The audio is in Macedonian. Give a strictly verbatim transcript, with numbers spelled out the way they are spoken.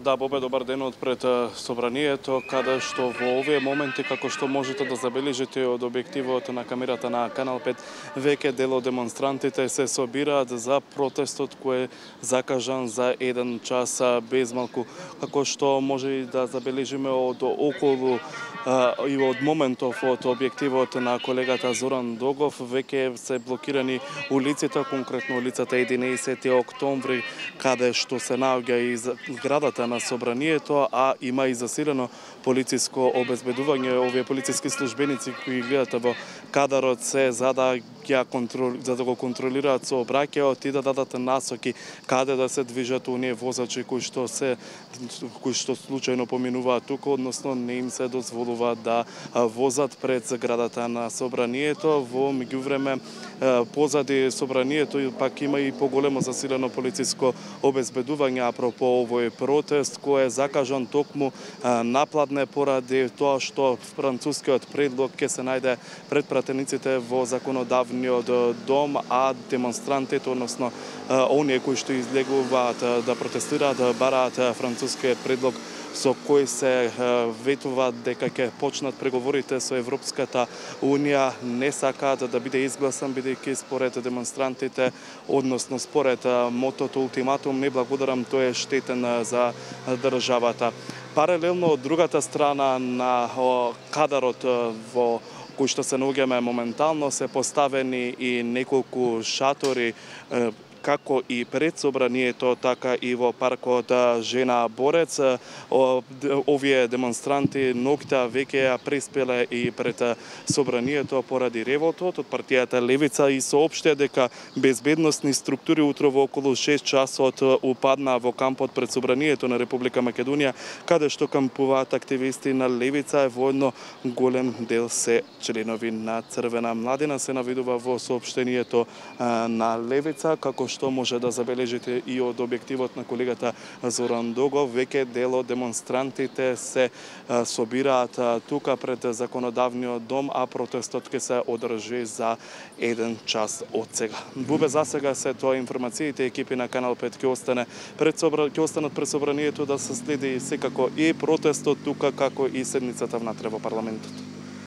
Да, Бобе, добар ден од пред собранието, каде што во овие моменти, како што можете да забележите од објективот на камерата на Канал пет, веќе дел од демонстрантите се собираат за протестот кој е закажан за еден час без малку, како што може и да забележиме од околу и од моментов од објективот на колегата Зоран Догов, веќе се блокирани улиците, конкретно улицата единаесети октомври, каде што се наоѓа и зградата на собранието, а има и засилено полициско обезбедување. Овие полициски службеници кои гледате во кадарот се за да ја контрол, за да го контролираат сообраќајот и да дадат насоки каде да се движат оние возачи кои што се кои што случајно поминуваат тука, односно не им се дозволува да возат пред зградата на собранието. Во меѓувреме позади собранието пак има и поголемо засилено полициско обезбедување апропо овој протест кој е закажан токму напладне поради тоа што францускиот предлог ќе се најде пред пратениците во законодавниот дом, а демонстрантите, односно оние кои што излегуваат да протестираат, бараат францускиот предлог со кој се ветува дека ќе почнат преговорите со Европската Унија, не сакаат да биде изгласан, бидејќи според демонстрантите, односно според мотото ултиматум не благодарам, тој е штетен за државата. Паралелно од другата страна на кадарот во кој што се наоѓаме моментално се поставени и неколку шатори како и пред собранието, така и во паркот Жена Борец. Овие демонстранти ноќта веќе ја преспеле и пред собранието поради револтот од партијата Левица и соопштија дека безбедносни структури утро во околу шест часот упадна во кампот пред собранието на Република Македонија, каде што кампуваат активисти на Левица, во едно голем дел се членови на Црвена младина, се навидува во соопштението на Левица, како што може да забележите и од објективот на колегата Зоран Догов, веќе дел од демонстрантите се собираат тука пред законодавниот дом, а протестот ќе се одржи за еден час од сега. Бубе, за сега се тоа информациите, екипи на Канал пет ќе остане пред собра... ќе останат пред собранието да се следи секако и протестот тука, како и седницата внатре во парламентот.